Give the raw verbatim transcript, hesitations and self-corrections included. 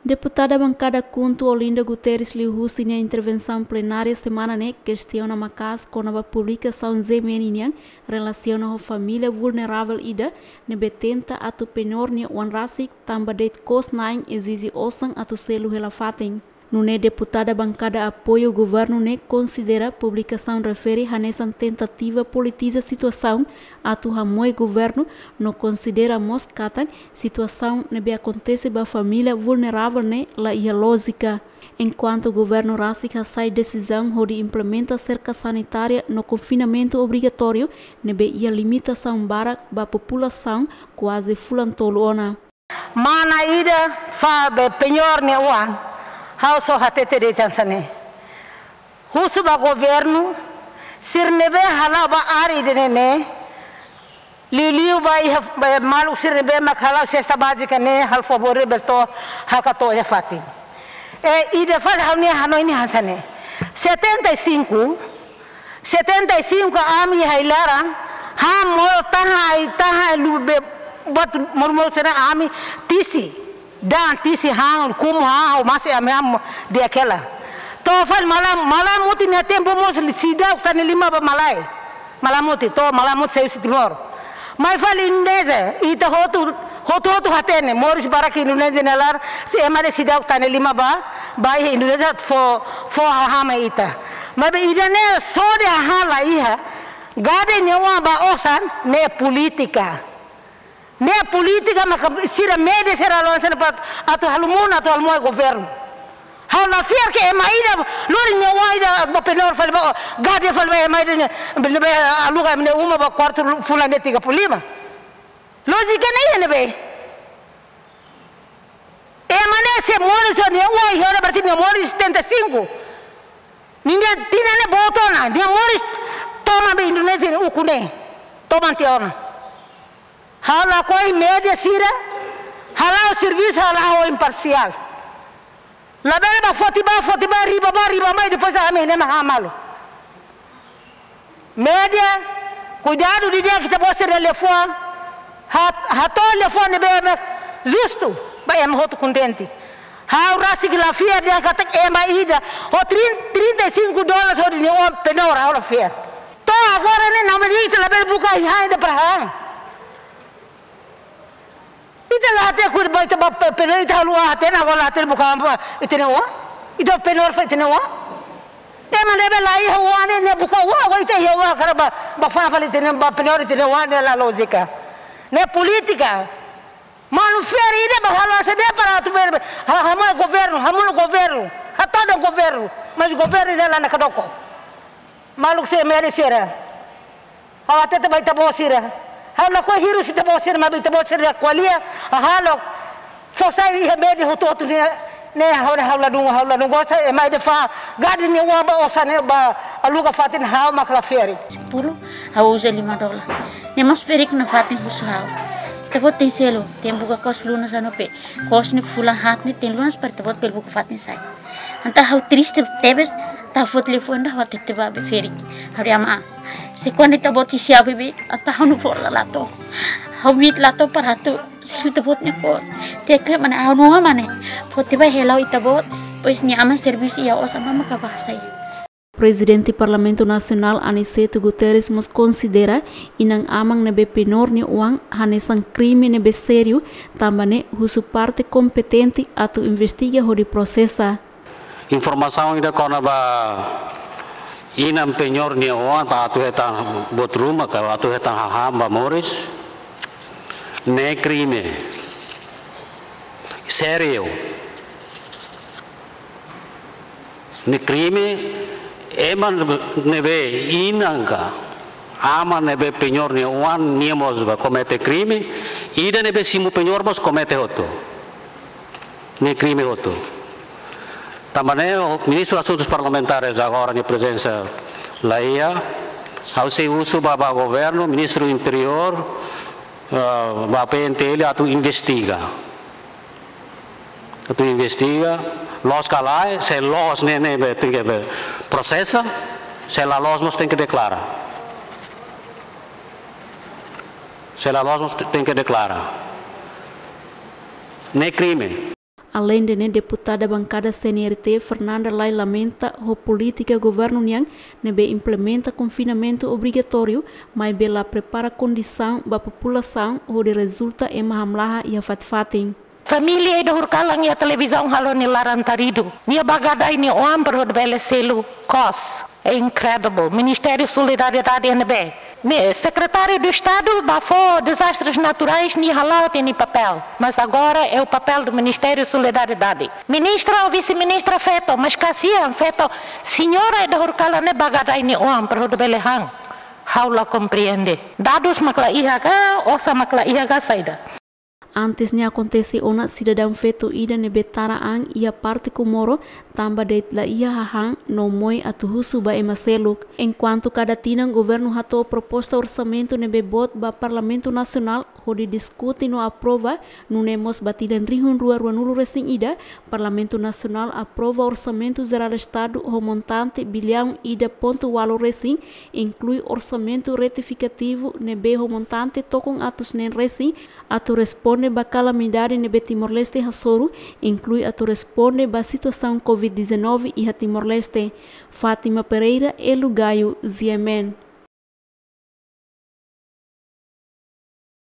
Deputada Bankada KHUNTO Olinda Guterres liuhusi nia intervensaun plenária semana ne'e kestiona maka'as kona-ba publikasaun G M N nian relasiona ho família vulneravel ida ne'ebé tenta atu penór nia oan rasik tanba de'it kosnain ezije osan atu selu hela fatin. Nune'e deputada bankada apoiu governu ne'e konsidera publikasaun refere hanesan tentativa politiza situasaun atu hamoe governu no konsidera mós katak situasaun ne'ebé akontese ba família vulneravel ne'e la iha lójika. Enkuantu governu rasik hasai desizaun hodi implementa serka sanitária no konfinamentu obrigatóriu ne'ebé iha limitasaun barak ba populasaun kuaze fulan tolu ona. Mana ida fó ba penór nia oan, ha'u só hatete de'it hanesan ne'e. Husu ba governu, sira ne'ebé hala'o ba área ida-ne'e ne'e, liuliu ba iha, ba maluk sira ne'ebé mak hala'o sesta bázika ne'e, halo favór bele to'o, halo ka to'o iha fatin. E ida fali ha'u-nia hanoin ne'e hanesan ne'e. Setenta e cinco, setenta e cinco ami iha ai-laran, han modo tahan ai, tahan ai lubuk buat modo-modo sira-ne'e ami tisi. Da'an tisi han, kumu han, ha'u masi ami han di'ak hela. To'o fali malam, malam mutin nia tempu mós seidauk tane lima ba malae. Malam mutin, to'o malam mutin sei husi Timor. Mai fali Indonézia, ita hotu, hotu-hotu hatene, moris barak Indonézia nia laran, se ema de'it seidauk tane lima ba, ba iha Indonézia fó, fó hahán mai ita. Maibé ida-ne'e só de'it hahán la iha, gade nia oan ba osan, ne'e polítika. Ne'e polítika maka sira média sira la'o hanesan ne'e para atu halo monu, atu halo moe governu. Ha'u la fiar ke ema ida, lori nia oan ida ba penór fali ba, gade fali ba ema ida ne'e, ne'ebé aluga ema nia uma ba kuartu fulan ne'e tiga puluh lima. Lójika ne'e iha ne'ebé? Ema ne'e se moris nia oan iha ona berarti nia moris setenta e cinco. Nia tinan ne'e boot ona, nia moris toman ba Indonézia nia ukun ne'e. Toman tiha ona. Ha'u lakohi média sira, hala'o servisu, hala'o imparsiál. Labele ba foti ba, foti ba, riba ba, riba mai, depois ami ne'e mak han malu. Média, kuidadu didi'ak ita-boot sira-nia liafuan, ha-, hato'o liafuan ne'ebé mak justu, ba ema hotu kontente. Ha'u rasik la fiar dehan katak ema ida, ho trin-, trinta e cinco dólares hodi nia oan penór, ha'u la fiar. To'o agora ne'e, namanya ita labele buka ai-han ida para han. Ita la hatene kuir ba ita ba pe-, penór ita haluha hatene, agora la hatene buka ba ita-nia oan. Ita penór fali ita-nia oan. Ema ne'ebé la iha oan ne'e, ne'e buka oan, agora ita iha oan hakarak ba, ba fa'an fali ita-nia, ba penór ita-nia oan, ne'e la lójika. Ne'e polítika. Manu fiar ida ba halo hanesan ne'e para atu bele, ha-, hamoe governu, hamoe governu, hatodan governu, mas governu ne'e la nakdoko. Maluk sira, média sira. Ha'u hatete ba ita-boot sira. Ha'u lakohi hirus ita-boot sira, maibé ita-boot sira ko'alia, halo fó sai iha média hotu-hotu ne'e, ne'e ha'u, ha'u ladún, ha'u ladún gosta, ema ida fó gade nia oan ba osan ne'e, ba aluga fatin, ha'u mak la fiar. Sepuluh, ha'u uza lima dólar. Ne'e mós ferik nafatin husu ha'u. Ita-boot tenke selu, tenke buka kos lunas anu pe. Kos ne'e fulan haat ne'e tenke lunas para ita-boot bele buka fatin sai. Entaun ha'u triste tebes, entaun ha'u fó telefone ida ha'u hatete ba be ferik. Ha'u dehan: Aman, se kuandu ita-boot sei siap beibeik, entaun ha'u-nia avó la la to'o. Ha'u metin la to'o para atu selu ita-boot nia kos. Tenke mane ha'u-nia oan mane. Foti ba hela ho ita-boot, depois nia aman servisu iha osan mama ka ba sai. Prezidente Parlamentu Nasionál Aniceto Guterres mós konsidera inan-aman ne'ebé penór nia oan hanesan krime ne'ebé sériu, tanba ne'e husu parte kompetente atu investiga hodi prosesa. Informasaun ida kona-ba inan penór nia oan ba atu hetan buat ruma ka atu hetan hahán ba moris, ne'e krime sériu. Ne'e krime, ema ne'ebé inan ka aman ne'ebé penór nia oan, nia mós ba komete krime, ida ne'ebé simu penór mós komete hotu. Ne'e krime hotu. Tanba ne'e, o Ministru Asuntus Parlamentares agora nia prezensa la iha, ha'u sei husu ba, ba governu, Ministru Interiór, ah, ba P N T L atu investiga. Atu investiga, loos ka lae, se loos ne'e, ne'ebé tenke be prosesa, se la loos mós tenke deklara. Se la loos mós tenke deklara. Ne'e krime. Aleinde ne'e, deputada bankada C N R T, Fernanda Lay, lamenta ho polítika governu nian ne'ebé implementa konfinamentu obrigatóriu, maibé la prepara kondisaun ba populasaun, hodi rezulta ema hamlaha iha fatin-fatin. Família ida horiseik kalan iha televizaun halo nia laran taridu. Nia ba gadai nia oan para hodi bele selu kos. É incredible. Ministériu Solidariedade ne'ebé, Mi-, Secretário de Estado ba fó dezastres naturais, nia hala'o tiha nia papél. Mas agora é o papel do Ministério Solidariedade. Ministra ou vice-ministra feto, mas kasihan feto, señora ida horiseik kalan ne'e ba gadai nia oan para hodi bele han. Ha'u la komprende. Dadus mak la iha ka, osan mak la iha ka saida? Antes ne'e akontese ona sidadaun feto ida ne'ebé tara an iha parte Comoro, tanba de'it la iha hahán no moe atu husu ba ema seluk. Enkuantu kada tinan governu hato'o proposta orsamentu ne'ebé boot ba Parlamentu Nasionál hodi diskute no aprova, nune'e mós ba tinan rihun rua ruanulu resin ida, Parlamentu Nasionál aprova Orsamentu Jerál Estadu ho montante biliaun ida pontu ualu resin, inklui orsamentu retifikativu ne'ebé ho montante tokon atus neen resin, atu responde ba kalamidade ne'ebé Timor-Leste hasoru, inklui atu responde ba situasaun covid dezanove iha Timor-Leste. Fátima Pereira, Elu Gayo, G M N.